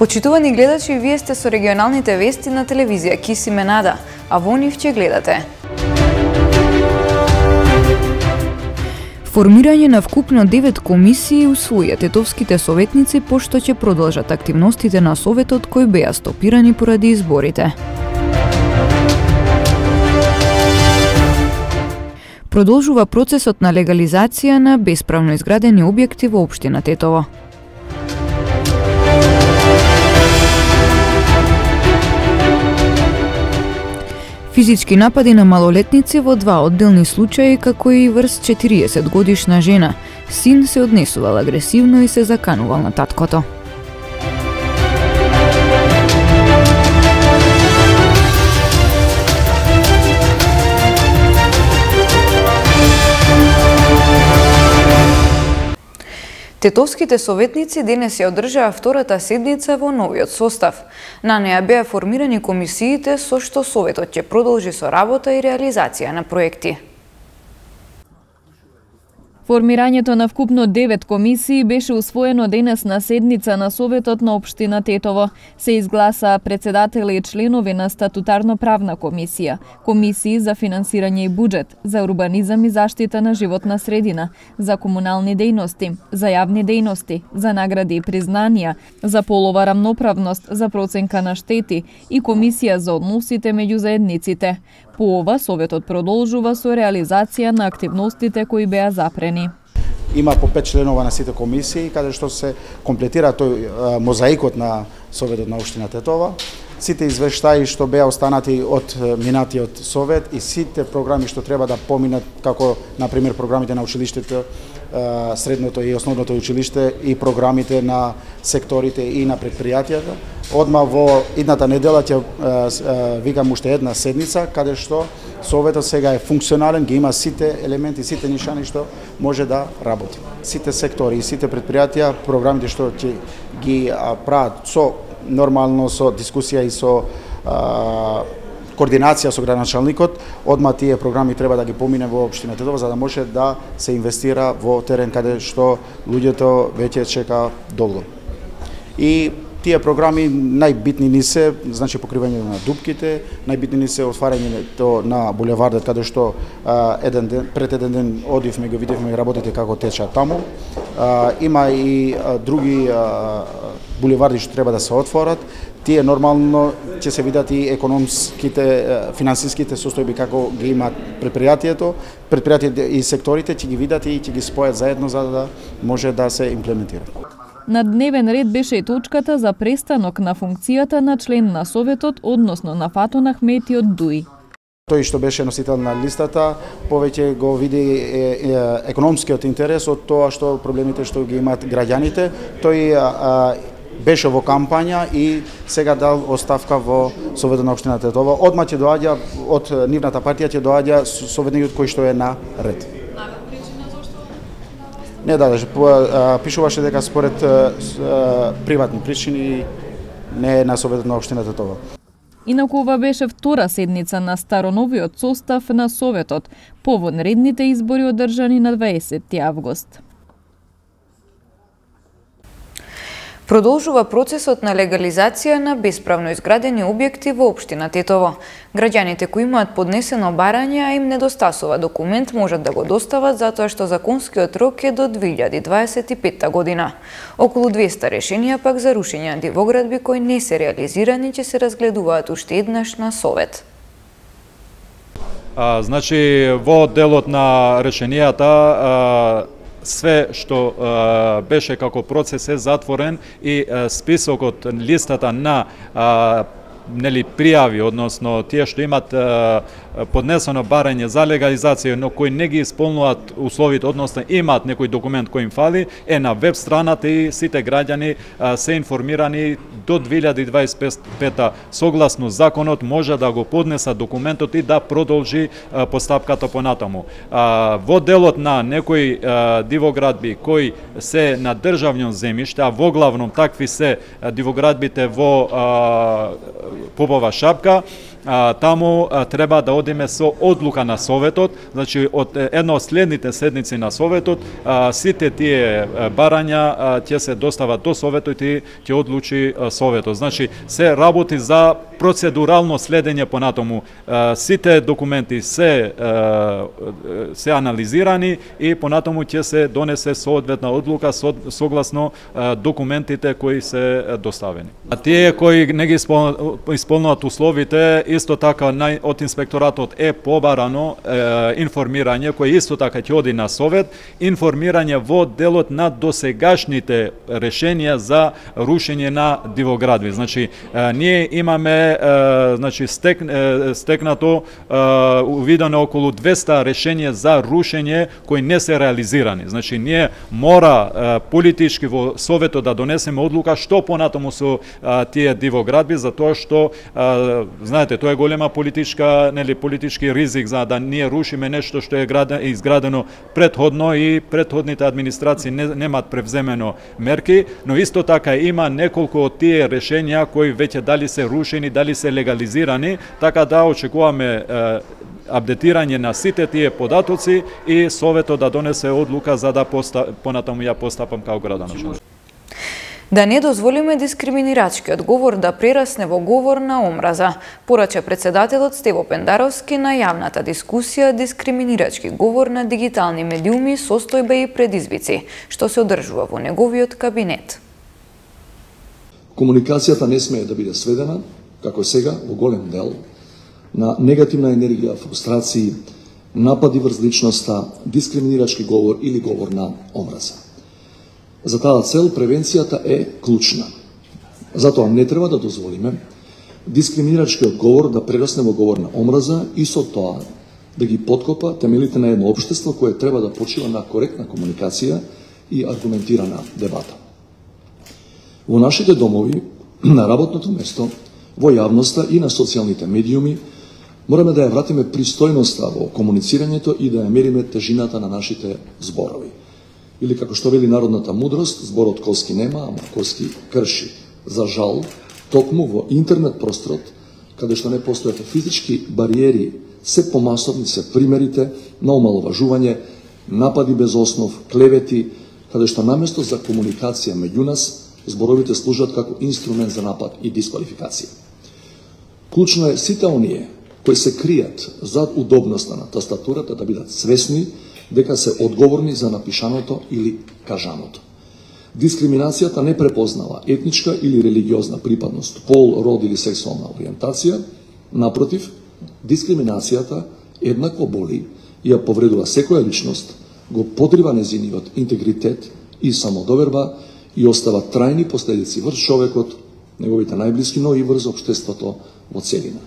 Почитувани гледачи, вие сте со регионалните вести на телевизија Кисиме Нада, а во нив ќе гледате. Формирање на вкупно 9 комисии усвоија тетовските советници пошто ќе продолжат активностите на советот кои беа стопирани поради изборите. Продолжува процесот на легализација на бесправно изградени објекти во општина Тетово. Физички напади на малолетници во 2 одделни случаи, како и врз 40 годишна жена. Син се однесувал агресивно и се заканувал на таткото. Тетовските советници денес ја одржаа втората седница во новиот состав. На неа беа формирани комисиите со што советот ќе продолжи со работа и реализација на проекти. Формирањето на вкупно 9 комисии беше усвоено денес на седница на Советот на општина Тетово. Се изгласаа председатели и членови на статутарно-правна комисија, комисии за финансирање и буџет, за урбанизам и заштита на животна средина, за комунални дејности, за јавни дејности, за награди и признанија, за полова рамноправност, за проценка на штети и комисија за односите меѓу заедниците. По ова, Советот продолжува со реализација на активностите кои беа запрени. Има по 5 членова на сите комисии, каде што се комплетира тој мозаикот на Советот на општина Тетово. Сите извештаи што беа останати од минатиот совет и сите програми што треба да поминат, како например програмите на училиштето, средното и основното училиште и програмите на секторите и на предпријатијата. Одма во идната недела ќе викам уште една седница каде што советот сега е функционален, ги има сите елементи, сите нишани што може да работи. Сите сектори и сите предпријатија, програмите што ќе ги прават со нормално со дискусија и со координација со градоначалникот, одма тие програми треба да ги помине во општина Тетово за да може да се инвестира во терен каде што луѓето веќе чека долго. И тие програми најбитни ни се, значи покривање на дупките, најбитни ни се отварањето на булевардот каде што пред еден ден одивме го видевме работите како течат таму. Има и други булеварди што треба да се отворат. Тие нормално ќе се видат и економските, финансиските состојби како ги имаат предпријатието и секторите ќе ги видат и ќе ги спојат заедно за да може да се имплементира. На дневен ред беше и точката за престанок на функцијата на член на Советот, односно на Фатон Ахмети од ДУИ. Тој што беше носител на листата, повеќе го види економскиот интерес од тоа што проблемите што ги имаат граѓаните. Тој беше во кампања и сега дал оставка во Советот на општина Тетово. Одма ќе доаѓа од нивната партија ќе доаѓа советникот кој што е на ред. Не, пишуваше дека според приватни причини не е на Советот на општина Тетово. Инаку ова беше втора седница на староновиот состав на Советот, по вонредните избори одржани на 20 август. Продолжува процесот на легализација на бесправно изградени објекти во општина Тетово. Граѓаните кои имаат поднесено барање, а им недостасува документ, можат да го достават затоа што законскиот рок е до 2025 година. Околу 200 решенија пак за рушење на дивоградби кои не се реализирани ќе се разгледуваат уште еднаш на Совет. Значи, во делот на решенијата све што беше како процес е затворен и списокот, листата на пријави, односно тие што имат поднесено барање за легализација, но кои не ги исполнуваат условите, односно имаат некој документ кој им фали, е на веб страната и сите граѓани се информирани до 2025 согласно законот може да го поднесат документот и да продолжи постапката понатаму. Во делот на некои дивоградби кои се на државно земјиште, а воглавном такви се дивоградбите во попова шапка, таму треба да одиме со одлука на Советот, значи од една од следните седници на Советот, сите тие барања ќе се достават до Советот и ќе одлучи Советот. Значи се работи за процедурално следење понатаму. Сите документи се анализирани и понатаму ќе се донесе соодветна одлука согласно документите кои се доставени. А тие кои не ги исполнуваат условите, исто така од инспекторатот е побарано информирање кој исто така ќе оди на Совет, информирање во делот на досегашните решенија за рушење на дивоградби. Значи ние имаме стекнато увидено околу 200 решенија за рушење кои не се реализирани. Значи ние мора политички во Советот да донесеме одлука што понатаму со тие дивоградби, затоа што знаете, тоа е голема политички ризик за да ние рушиме нешто што е изградено претходно и претходните администрации немаат превземено мерки, но исто така има неколку од тие решенија кои веќе дали се рушени, дали се легализирани, така да очекуваме апдетирање на сите тие податоци и Советот да донесе одлука за да понатаму ја постапам као градоначелник. Да не дозволиме дискриминирачкиот говор да прерасне во говор на омраза, порача председателот Стево Пендаровски на јавната дискусија дискриминирачки говор на дигитални медиуми, состојба и предизвици, што се одржува во неговиот кабинет. Комуникацијата не смее да биде сведена, како сега, во голем дел, на негативна енергија, фрустрации, напади врз личноста, дискриминирачки говор или говор на омраза. За таа цел превенцијата е клучна. Затоа не треба да дозволиме дискриминирачкиот говор да прерасне во говор на омраза и со тоа да ги поткопа темелите на едно општество кое треба да почива на коректна комуникација и аргументирана дебата. Во нашите домови, на работното место, во јавноста и на социјалните медиуми, мораме да ја вратиме пристојноста во комуницирањето и да ја мериме тежината на нашите зборови. Или како што вели народната мудрост, зборот коски нема, ама коски крши. За жал, токму во интернет просторот, каде што не постојат физички бариери, се помасовни се примерите на омаловажување, напади без основ, клевети, каде што наместо за комуникација меѓу нас, зборовите служат како инструмент за напад и дисквалификација. Клучно е сите оние кои се кријат зад удобноста на тастатурата да бидат свесни дека се одговорни за напишаното или кажаното. Дискриминацијата не препознава етничка или религиозна припадност, пол, род или сексуална ориентација. Напротив, дискриминацијата еднакво боли и ја повредува секоја личност, го подрива незиниот интегритет и самодоверба и остава трајни последици врз човекот, неговите најблиски, но и врз општеството во целина.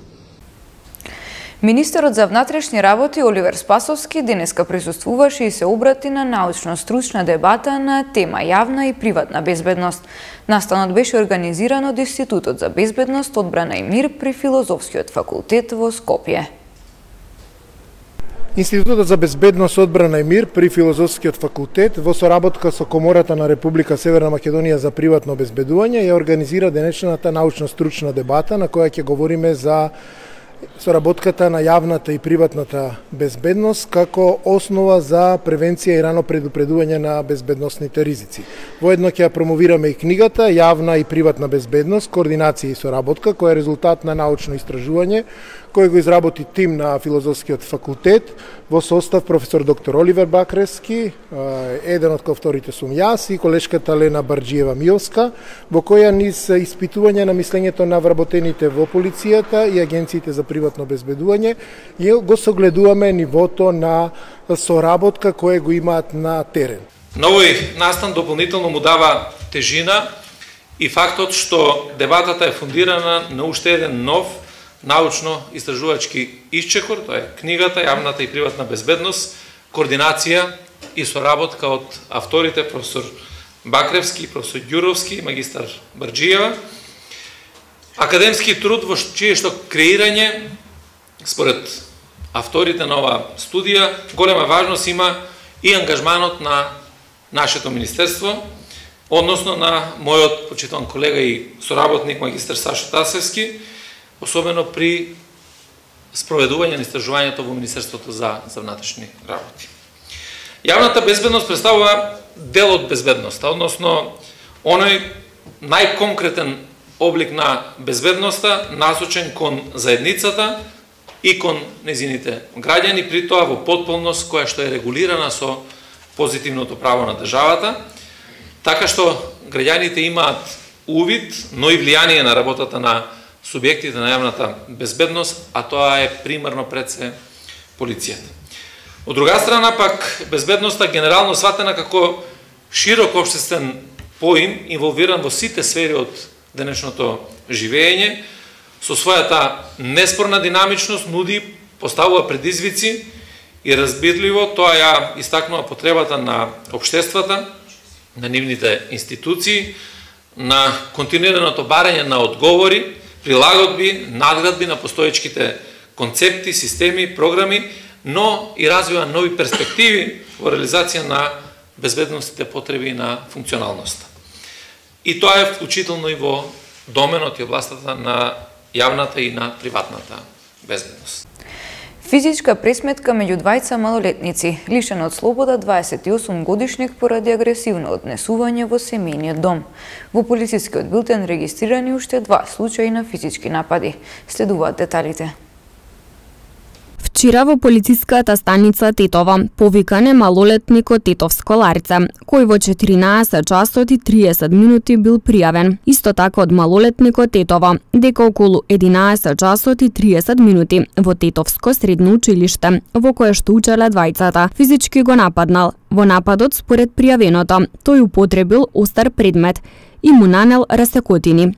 Министерот за внатрешни работи Оливер Спасовски денеска присуствуваше и се обрати на научно-стручна дебата на тема јавна и приватна безбедност. Настанот беше организиран од Институтот за безбедност, одбрана и мир при Филозофскиот факултет во Скопје. Институтот за безбедност, одбрана и мир при Филозофскиот факултет во соработка со Комората на Република Северна Македонија за приватно обезбедување ја организира денешната научно-стручна дебата на која ќе говориме за соработката на јавната и приватната безбедност како основа за превенција и рано предупредување на безбедносните ризици. Воедно ќе ја промовираме и книгата Јавна и приватна безбедност, координација и соработка, која е резултат на научно истражување кој го изработи тим на Филозофскиот факултет во состав професор доктор Оливер Бакрески, еден од коавторите сум јас и колешката Лена Барџиева-Миовска, во која низ испитување на мислењето на вработените во полицијата и агенциите за приватно обезбедување го согледуваме нивото на соработка кое го имаат на терен. На овој настан дополнително му дава тежина и фактот што дебатата е фундирана на уште еден нов научно-истражувачки исчекор, тоа е книгата Јавната и приватна безбедност, координација и соработка од авторите професор Бакревски, професор Ѓуровски, магистар Барџиева. Академски труд во чие што креирање, според авторите на оваа студија, голема важност има и ангажманот на нашето министерство, односно на мојот почитуван колега и соработник магистар Сашо Тасевски, особено при спроведување на истражувањето во Министерството за внатрешни работи. Јавната безбедност представува дел од безбедноста, односно оној најконкретен облик на безбедноста насочен кон заедницата и кон незините граѓани, при тоа во потполност која што е регулирана со позитивното право на државата, така што граѓаните имаат увид, но и влијание на работата на субјектите на јавната безбедност, а тоа е примарно пред се полицијата. Од друга страна пак безбедноста генерално сватена како широк општествен поим инволвиран во сите сфери од денешното живење, со својата неспорна динамичност нуди, поставува предизвици и разбирливо тоа ја истакнува потребата на општествата, на нивните институции, на континуираното барање на одговори, прилагодби, надградби на постоечките концепти, системи, програми, но и развива нови перспективи во реализација на безбедностните потреби на функционалноста. И тоа е вклучително и во доменот и областата на јавната и на приватната безбедност. Физичка пресметка меѓу двајца малолетници, лишен од слобода 28 годишник поради агресивно однесување во семејниот дом. Во полицискиот билтен регистрирани уште 2 случаи на физички напади. Следуваат деталите. Вчера во полициската станица Тетово повикан е малолетник од Тетовско Ларице, кој во 14 часот и 30 минути бил пријавен. Исто така од малолетникот Тетово, дека околу 11 часот и 30 минути во Тетовско средно училиште, во кое што учеле двајцата, физички го нападнал. Во нападот, според пријавеното, тој употребил остар предмет и му нанел расекотини.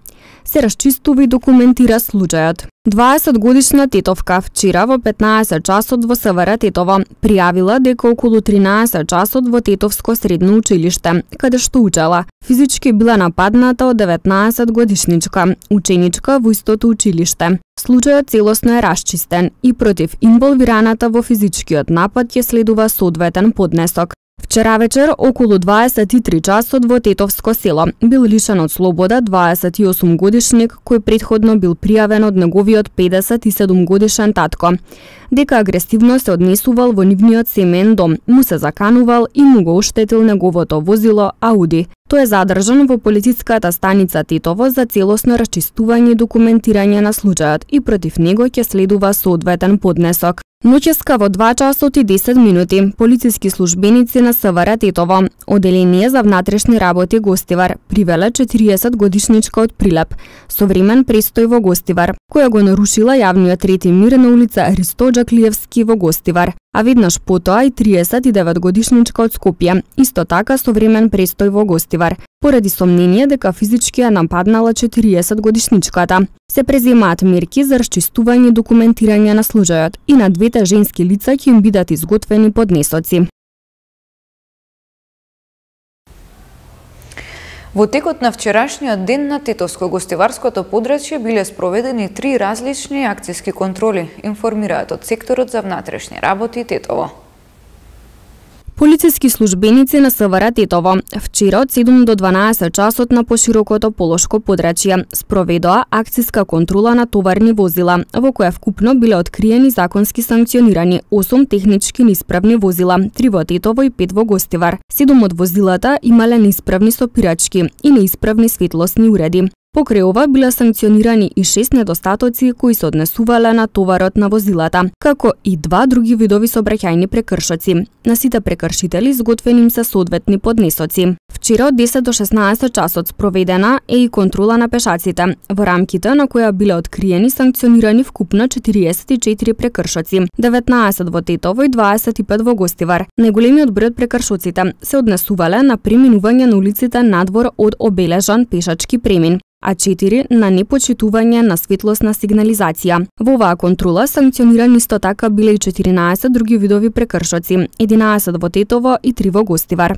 Се расчистува и документира случајот. 20-годишна тетовка вчера во 15 часот во СВР Тетово пријавила дека околу 13 часот во Тетовско средно училиште, каде што учела, физички била нападната од 19-годишничка, ученичка во истото училиште. Случајот целосно е расчистен и против инволвираната во физичкиот напад ќе следува соодветен поднесок. Вчера вечер, околу 23 часот во Тетовско село, бил лишен од слобода 28 годишник кој претходно бил пријавен од неговиот 57 годишен татко. Дека агресивно се однесувал во нивниот семеен дом, му се заканувал и му го оштетил неговото возило Ауди. Тој е задржан во полициската станица Тетово за целосно расчистување и документирање на случајот и против него ќе следува соодветен поднесок. Ноќеска во 2 часот и 10 минути, полициски службеници на СВР Тетово, Оделение за внатрешни работи Гостивар, привеле 40-годишничка од Прилеп, со времен престој во Гостивар, која го нарушила јавниот ред и мир на улица Христо Джаклиевски во Гостивар, а веднаш потоа и 39-годишничка од Скопје, исто така со времен престој во Гостивар, поради сомнение дека физички ја нападнала 40-годишничката. Се преземаат мерки за расчистување и документирање на случајот и на двете женски лица ќе им бидат изготвени поднесоци. Во текот на вчерашниот ден на Тетовско-гостиварското подрачје биле спроведени 3 различни акциски контроли, информираат од секторот за внатрешни работи Тетово. Полициски службеници на СВР Тетово вчера од 7 до 12 часот на поширокото полошко подрачје спроведоа акциска контрола на товарни возила, во која вкупно биле откриени законски санкционирани 8 технички неисправни возила, 3 во Тетово и 5 во Гостивар. 7 од возилата имале неисправни сопирачки и неисправни светлосни уреди. Покрај ова биле санкционирани и 6 недостатоци кои се однесувале на товарот на возилата, како и 2 други видови сообраќајни прекршоци. На сите прекршители изготвени им се соодветни поднесоци. Вчера од 10 до 16 часот спроведена е и контрола на пешаците, во рамките на која биле откриени санкционирани вкупно 44 прекршоци, 19 во Тетово и 25 во Гостивар. Најголемиот број од прекршоците се однесувале на преминување на улиците надвор од обележан пешачки премин, а 4 на непочитување на светлосна сигнализација. Во оваа контрола санкционирани исто така биле и 14 други видови прекршоци, 11 во Тетово и 3 во Гостивар.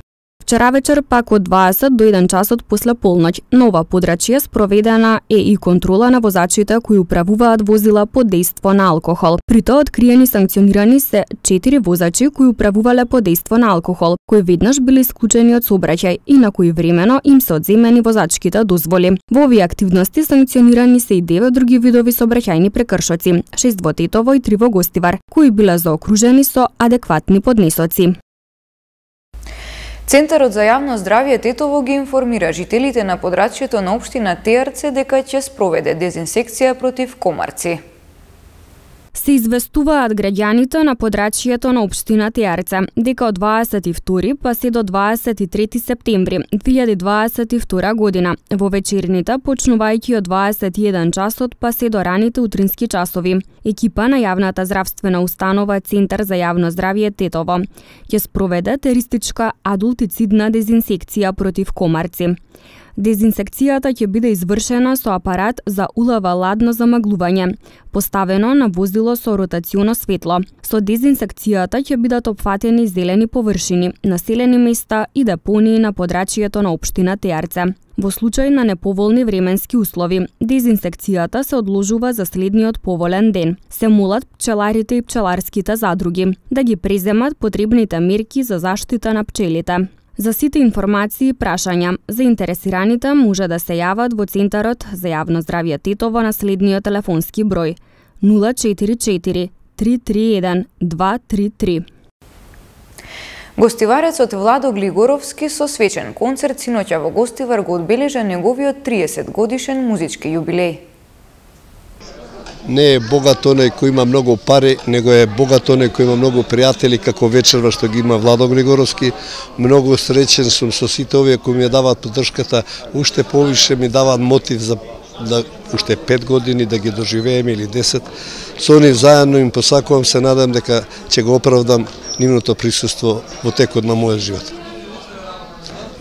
Вчера вечер пак од 20 до 1 часот после полноќ на ова подрачје спроведена е и контрола на возачите кои управуваат возила под дејство на алкохол. При тоа откриени санкционирани се 4 возачи кои управувале под дејство на алкохол, кои веднаш биле исклучени од сообраќај и на кои времено им се одземени возачките дозволи. Во овие активности санкционирани се и 9 други видови сообраќајни прекршоци, 6 во Тетово и 3 во Гостивар, кои биле заокружени со адекватни поднесоци. Центарот за јавно здравје Тетово ги информира жителите на подрачјето на општина Теарце дека ќе спроведе дезинсекција против комарци. Се известуваат граѓаните на подрачјето на општина Теарце дека од 22 па се до 23 септември 2022 година во вечерните, почнувајќи од 21 часот па се до раните утрински часови, екипа на јавната здравствена установа Центар за јавно здравје Тетово ќе спроведе теристичка адултицидна дезинсекција против комарци. Дезинсекцијата ќе биде извршена со апарат за улава-ладно замаглување, поставено на возило со ротационо светло. Со дезинсекцијата ќе бидат опфатени зелени површини, населени места и депонии на подрачјето на општина Теарце. Во случај на неповолни временски услови, дезинсекцијата се одложува за следниот поволен ден. Се молат пчеларите и пчеларските задруги да ги преземат потребните мерки за заштита на пчелите. За сите информации и прашања, заинтересираните може да се јават во Центарот за јавно здравје Тетово на следниот телефонски број 044 331 233. Гостиварецот Владо Глигоровски со свечен концерт синоќа во Гостивар го одбележа неговиот 30 годишен музички јубилеј. Не е богат оној кој има многу пари, него е богат оној кој има многу пријатели, како вечерва што ги има Владо Глигоровски. Многу среќен сум со сите овие кои ми даваат поддршката, уште повише ми даваат мотив за уште 5 години да ги доживееме или 10. Со нив заедно им посакувам, се надам дека ќе го оправдам нивното присуство во текот на мојот живот.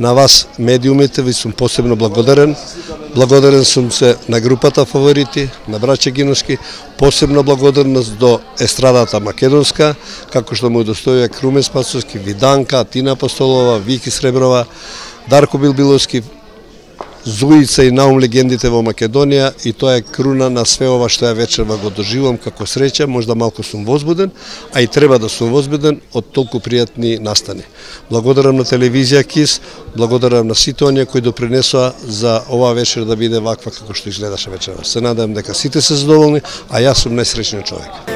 На вас, медиумите, ви сум посебно благодарен. Благодарен сум се на групата Фаворити, на браќа Гиновски, посебно благодарност до естрадата македонска, како што му удостојува Крумен Спасовски, Виданка, Тина Апостолова, Вики Среброва, Дарко Билбиловски, Зуица и Наум легендите во Македонија, и тоа е круна на све ова што ја вечерва го доживам како среќа. Можда малку сум возбуден, а и треба да сум возбуден од толку пријатни настани. Благодарам на телевизија КИС, благодарам на сите оние кои допринесоа за оваа вечер да биде ваква како што изгледаше вечерва. Се надевам дека сите се задоволни, а јас сум најсреќниот човек.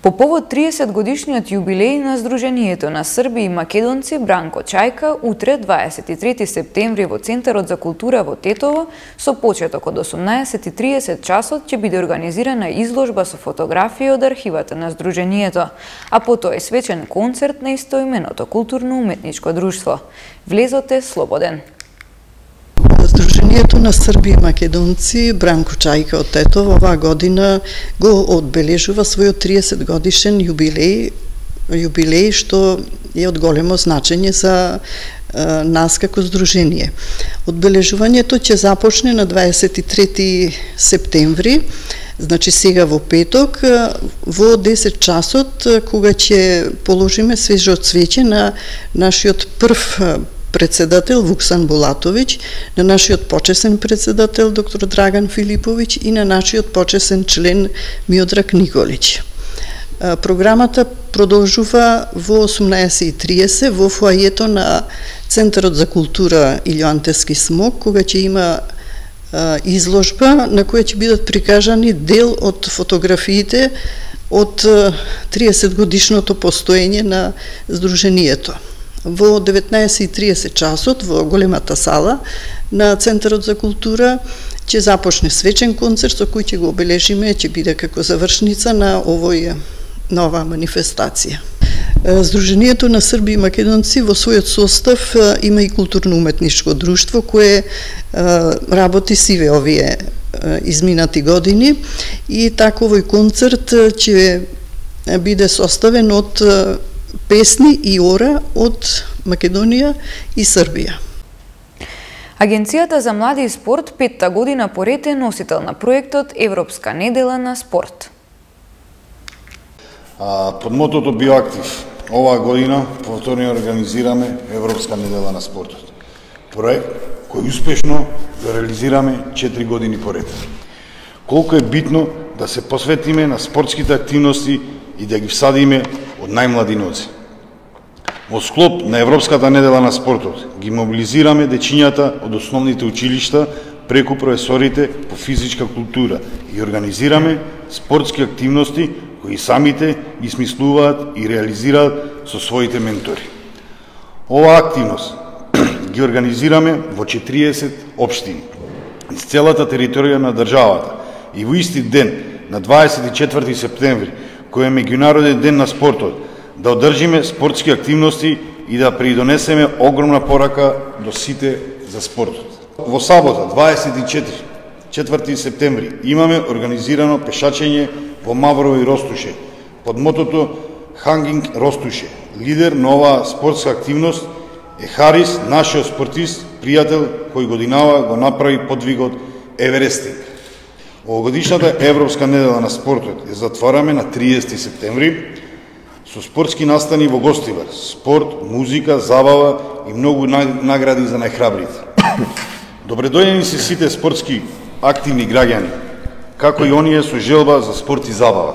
По повод 30 годишниот јубилеј на Сдруженијето на Срби и Македонци Бранко Чајка, утре 23 септември во Центарот за култура во Тетово, со почеток од 18:30 часот ќе биде организирана изложба со фотографии од архивата на Сдруженијето, а потоа и свечен концерт на истоименото културно-уметничко друштво. Влезот е слободен. Сдруженијето на Срби и Македонци Бранко Чајка од Тетово оваа година го одбележува својот 30 годишен јубилеј што е од големо значење за нас како здружение. Одбележувањето ќе започне на 23 септември, значи сега во петок, во 10 часот, кога ќе положиме свежо цвеќе на нашиот прв председател Вуксан Булатовиќ, на нашиот почесен председател доктор Драган Филиповиќ и на нашиот почесен член Миодраг Николиќ. Програмата продолжува во 18:30 во фоајето на Центарот за култура Илјо Антевски смок, кога ќе има изложба на која ќе бидат прикажани дел од фотографиите од 30 годишното постоење на Сдруженијето. Во 19:30 часот во големата сала на Центарот за култура ќе започне свечен концерт со кој ќе го обележиме, ќе биде како завршница на оваа манифестација. Сдруженијето на Срби и македонци во својот состав има и културно-уметничко друштво кое работи сиве овие изминати години и така овој концерт ќе биде составен од песни и ора од Македонија и Србија. Агенцијата за млади и спорт 5-та година поред е носител на проектот Европска недела на спорт. Под мотото Биоактив оваа година повторно организираме Европска недела на спортот. Проект кој успешно го реализираме 4 години поред. Колку е битно да се посветиме на спортските активности и да ги всадиме од најмлади ноци. Во склоп на Европската недела на спортот ги мобилизираме дечињата од основните училишта преку професорите по физичка култура и организираме спортски активности кои самите ги смислуваат и реализираат со своите ментори. Оваа активност ги организираме во 40 општини из целата територија на државата и во исти ден на 24 септември, кој е меѓународен ден на спортот, да одржиме спортски активности и да придонесеме огромна порака до сите за спортот. Во сабота, 24 септември, имаме организирано пешачење во Маврово и Ростуше, под мотото Хангинг Ростуше. Лидер на оваа спортска активност е Харис, нашиот спортист, пријател, кој годинава го направи подвигот Еверестинг. Овогодишната Европска недела на спортот ја затвараме на 30 септември со спортски настани во Гостивар, спорт, музика, забава и многу награди за најхрабрите. Добредојдени се сите спортски активни граѓани, како и оние со желба за спорт и забава.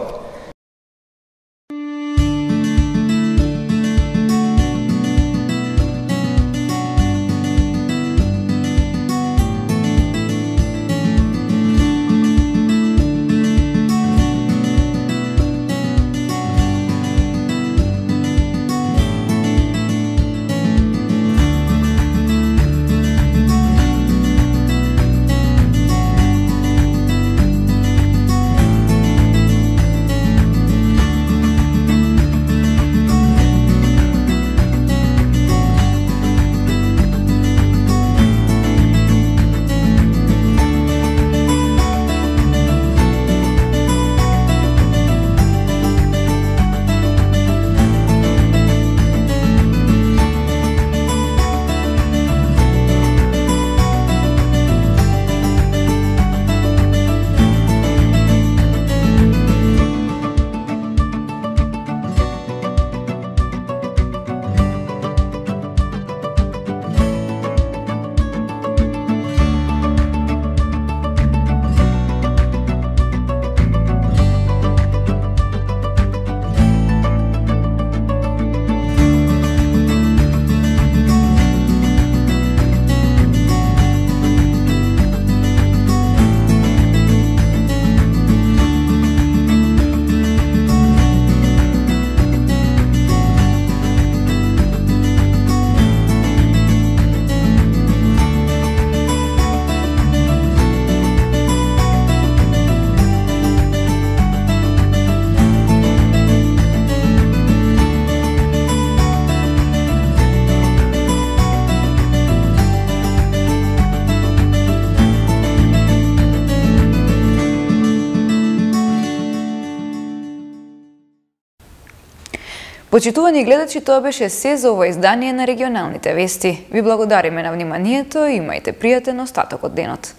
Почитувани гледачи, тоа беше се за ова издание на регионалните вести. Ви благодариме на вниманието и имајте пријатен остаток од денот.